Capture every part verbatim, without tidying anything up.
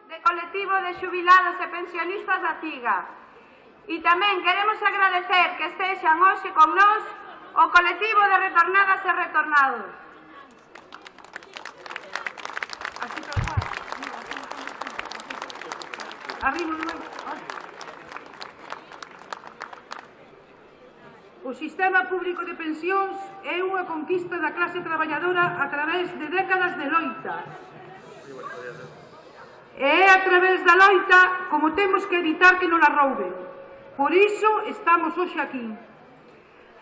de colectivo de xubilados e pensionistas da CIGA. E tamén queremos agradecer que estexan hoxe con nós o colectivo de retornadas e retornados. Así tal cual. Arriba, o sistema público de pensións é unha conquista da clase traballadora a través de décadas de loita. E é a través da loita como temos que evitar que non a rouben. Por iso estamos hoxe aquí.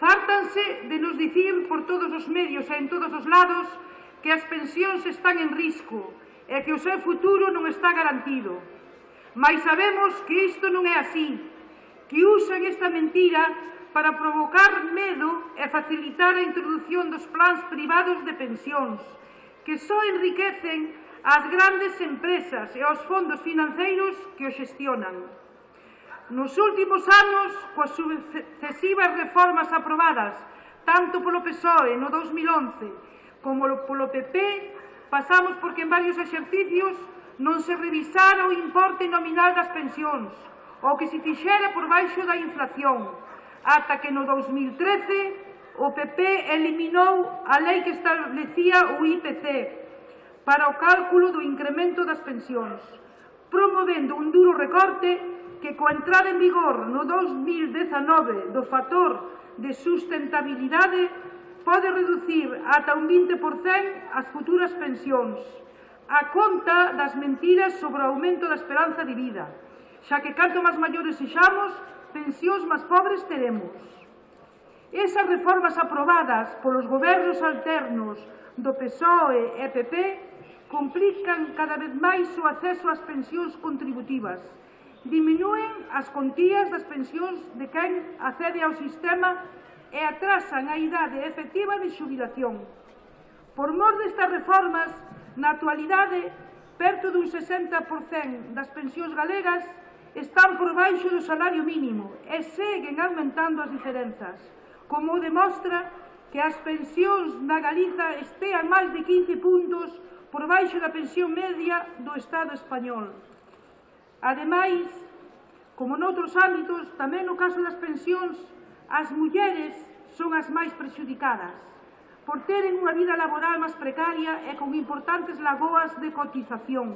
Fártanse de nos dicir por todos os medios e en todos os lados que as pensións están en risco e que o seu futuro non está garantido. Mais sabemos que isto non é así, que usan esta mentira para provocar medo e facilitar a introdución dos plans privados de pensións, que só enriquecen as grandes empresas e os fondos financeiros que o xestionan. Nos últimos anos, coas sucesivas reformas aprobadas tanto polo P S O E no dos mil once como polo P P, pasamos porque en varios exercicios non se revisara o importe nominal das pensións, o que se fixera por baixo da inflación, ata que no dos mil trece o P P eliminou a lei que establecía o I P C para o cálculo do incremento das pensións, promovendo un duro recorte que, coa entrada en vigor no dos mil dezanove do factor de sustentabilidade, pode reducir ata un vinte por cento as futuras pensións, a conta das mentiras sobre o aumento da esperanza de vida, xa que canto máis maiores sexamos, pensións máis pobres teremos. Esas reformas aprobadas polos gobernos alternos do P S O E e P P complican cada vez máis o acceso ás pensións contributivas, diminúen as contías das pensións de quen accede ao sistema e atrasan a idade efectiva de xubilación. Por mor destas reformas, na actualidade, perto dun sesenta por cento das pensións galegas están por baixo do salario mínimo e seguen aumentando as diferenzas, como demostra que as pensións na Galiza estean máis de quince puntos por baixo da pensión media do Estado español. Ademais, como noutros ámbitos, tamén no caso das pensións, as mulleres son as máis prexudicadas, por teren unha vida laboral máis precaria e con importantes lagoas de cotización,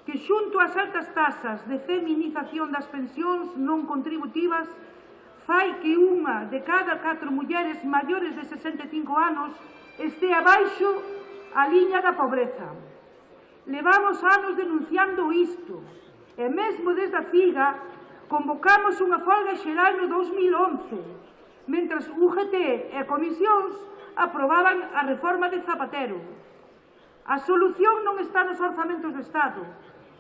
que xunto ás altas tasas de feminización das pensións non contributivas fai que unha de cada catro mulleres maiores de sesenta e cinco anos este abaixo a liña da pobreza. Levamos anos denunciando isto e mesmo desde a CIGA convocamos unha folga xeral no dos mil once, mentras U G T e comisións aprobaban a reforma de Zapatero. A solución non está nos orzamentos do Estado,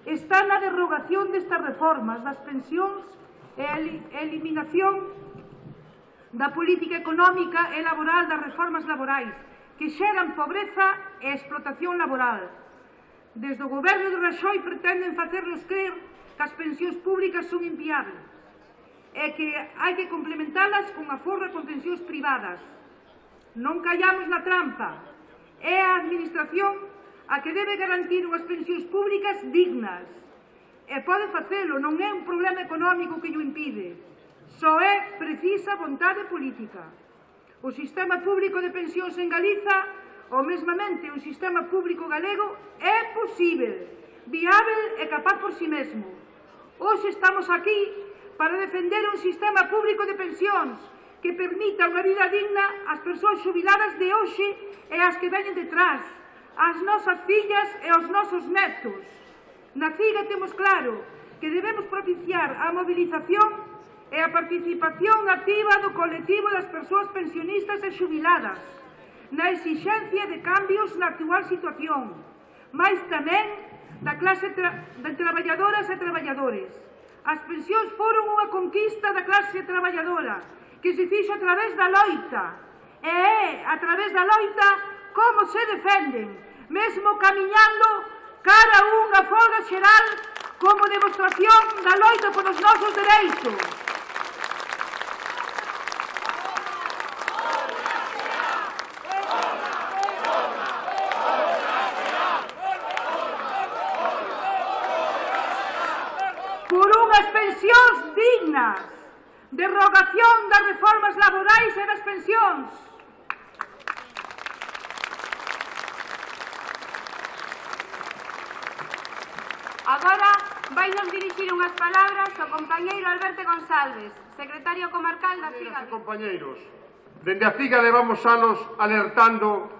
está na derrogación destas reformas das pensións e a eliminación da política económica e laboral das reformas laborais que xeran pobreza e explotación laboral. Desde o goberno de Raxoi pretenden facernos crer que as pensións públicas son inviables e que hai que complementalas con a forra con pensións privadas. Non callamos na trampa. É a Administración a que debe garantir unhas pensións públicas dignas. E pode facelo, non é un problema económico que o impide. Só é precisa vontade política. O sistema público de pensións en Galiza, ou mesmamente un sistema público galego, é posível, viável e capaz por si mesmo. Hoxe estamos aquí para defender un sistema público de pensións que permita unha vida digna ás persoas xubiladas de hoxe e ás que veñen detrás, ás nosas fillas e aos nosos netos. Na CIGA temos claro que debemos propiciar a movilización e a participación activa do colectivo das persoas pensionistas e xubiladas, na exixencia de cambios na actual situación, mais tamén da clase tra de traballadoras e traballadores. As pensións foron unha conquista da clase traballadora que se fixo a través da loita, e é a través da loita como se defenden, mesmo camiñando cara a unha folga xeral como demostración da loita polos nosos dereitos. pensións dignas, derrogación das reformas laborais e das pensións. Agora vai nos dirixir unhas palabras o compañeiro Alberto González, secretario comarcal da CIGADE. Compañeiros, dende a CIGADE vamos anos alertando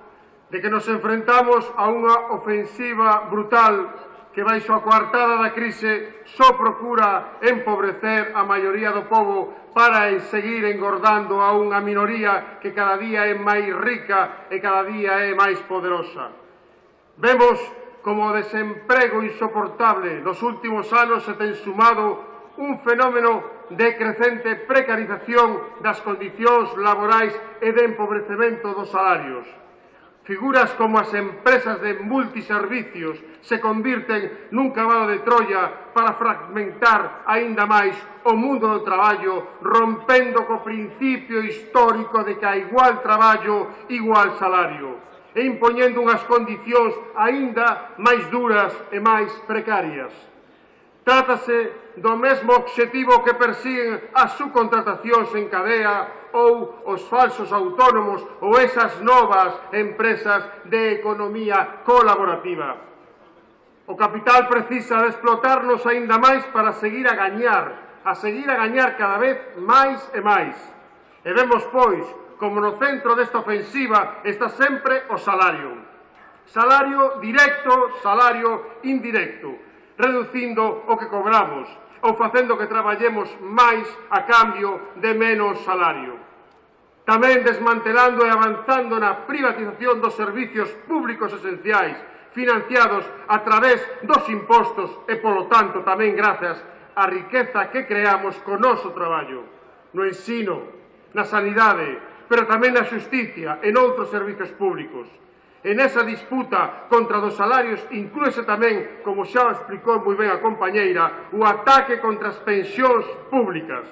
de que nos enfrentamos a unha ofensiva brutal que baixo a coartada da crise só procura empobrecer a maioría do pobo para seguir engordando a unha minoría que cada día é máis rica e cada día é máis poderosa. Vemos como o desemprego insoportable nos últimos anos se ten sumado un fenómeno de crecente precarización das condicións laborais e de empobrecemento dos salarios. Figuras como as empresas de multiservicios se convirten nun cabalo de Troia para fragmentar aínda máis o mundo do traballo, rompendo co principio histórico de que a igual traballo, igual salario, e impoñendo unhas condicións aínda máis duras e máis precarias. Trátase do mesmo obxectivo que persiguen as subcontratacións en cadea ou os falsos autónomos ou esas novas empresas de economía colaborativa. O capital precisa de explotarnos aínda máis para seguir a gañar, a seguir a gañar cada vez máis e máis. E vemos, pois, como no centro desta ofensiva está sempre o salario. Salario directo, salario indirecto, reducindo o que cobramos ou facendo que traballemos máis a cambio de menos salario. Tamén desmantelando e avanzando na privatización dos servicios públicos esenciais, financiados a través dos impostos e, polo tanto, tamén grazas á riqueza que creamos co noso traballo, no ensino, na sanidade, pero tamén na xusticia e noutros servicios públicos. En esa disputa contra dos salarios inclúese tamén, como xa explicou moi ben a compañeira, o ataque contra as pensións públicas.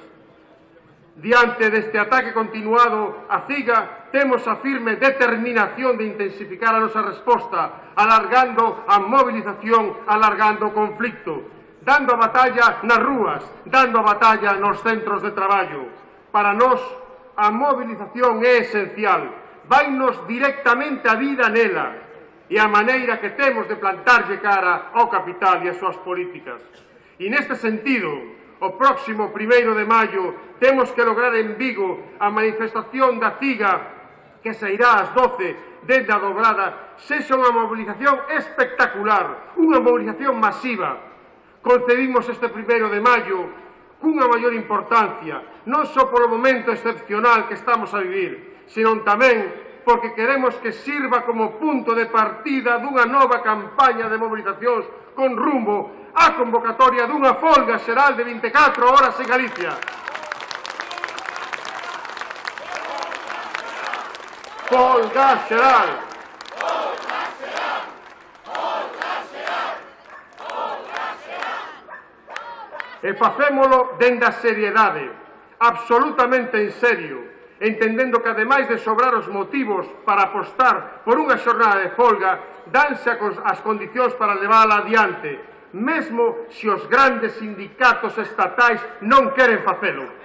Diante deste ataque continuado, a CIGA temos a firme determinación de intensificar a nosa resposta, alargando a movilización, alargando o conflicto, dando a batalla nas rúas, dando a batalla nos centros de traballo. Para nós, a movilización é esencial, vainos directamente a vida nela e a maneira que temos de plantarlle cara ao capital e as súas políticas. E neste sentido, o próximo primeiro de maio temos que lograr en Vigo a manifestación da CIGA que sairá ás doce dende a Dobrada, sexa unha movilización espectacular, unha movilización masiva. Concebimos este primeiro de maio cunha maior importancia, non só polo momento excepcional que estamos a vivir, senón tamén porque queremos que sirva como punto de partida dunha nova campaña de movilizacións con rumbo á convocatoria dunha folga xeral de vinte e catro horas en Galicia. Folga xeral! E facémolo dende a seriedade, absolutamente en serio, entendendo que, ademais de sobrar os motivos para apostar por unha xornada de folga, danse as condicións para levála adiante, mesmo se os grandes sindicatos estatais non queren facelo.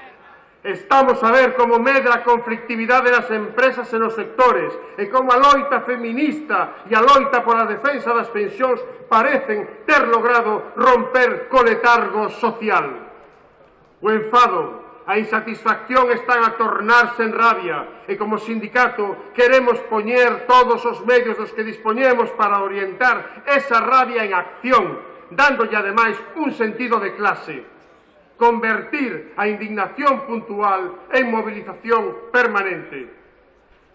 Estamos a ver como medra a conflictividade nas empresas e nos sectores e como a loita feminista e a loita pola defensa das pensións parecen ter logrado romper co letargo social. O enfado, a insatisfacción están a tornarse en rabia e como sindicato queremos poñer todos os medios dos que dispoñemos para orientar esa rabia en acción, dándolle ademais un sentido de clase. Convertir a indignación puntual en movilización permanente.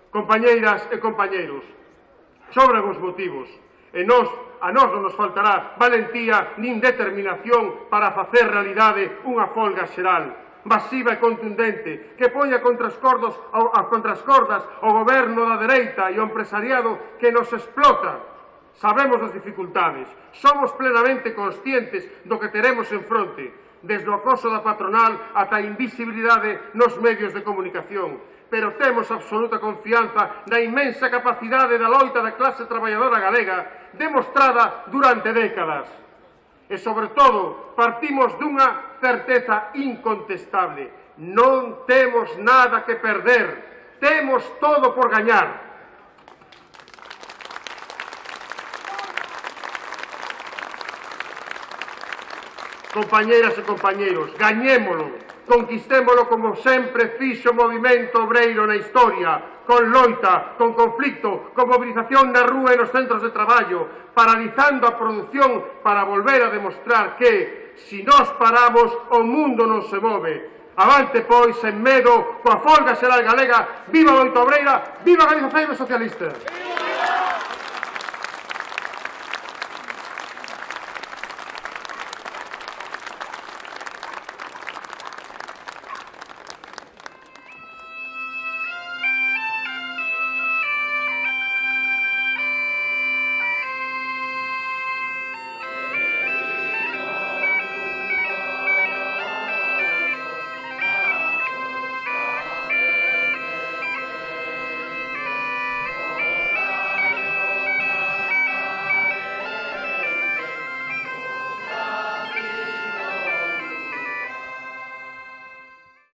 Compañeiras e compañeiros, sobran os motivos, e nós, a nós non nos faltará valentía nin determinación para facer realidade unha folga xeral, masiva e contundente, que poña contra as cordas, contra as cordas o goberno da dereita e o empresariado que nos explota. Sabemos as dificultades, somos plenamente conscientes do que teremos en fronte, desde o acoso da patronal ata a invisibilidade nos medios de comunicación, pero temos absoluta confianza na inmensa capacidade da loita da clase traballadora galega demostrada durante décadas. E, sobre todo, partimos dunha certeza incontestable. Non temos nada que perder, temos todo por gañar. Compañeiras e compañeiros, gañémolo, conquistémolo como sempre fixo o movimento obreiro na historia, con loita, con conflicto, con movilización na rúa e nos centros de traballo, paralizando a produción para volver a demostrar que, se nós paramos, o mundo non se move. Avante, pois, sen medo, coa folga xeral galega, viva a loita obreira, viva a Galiza Feira Socialista!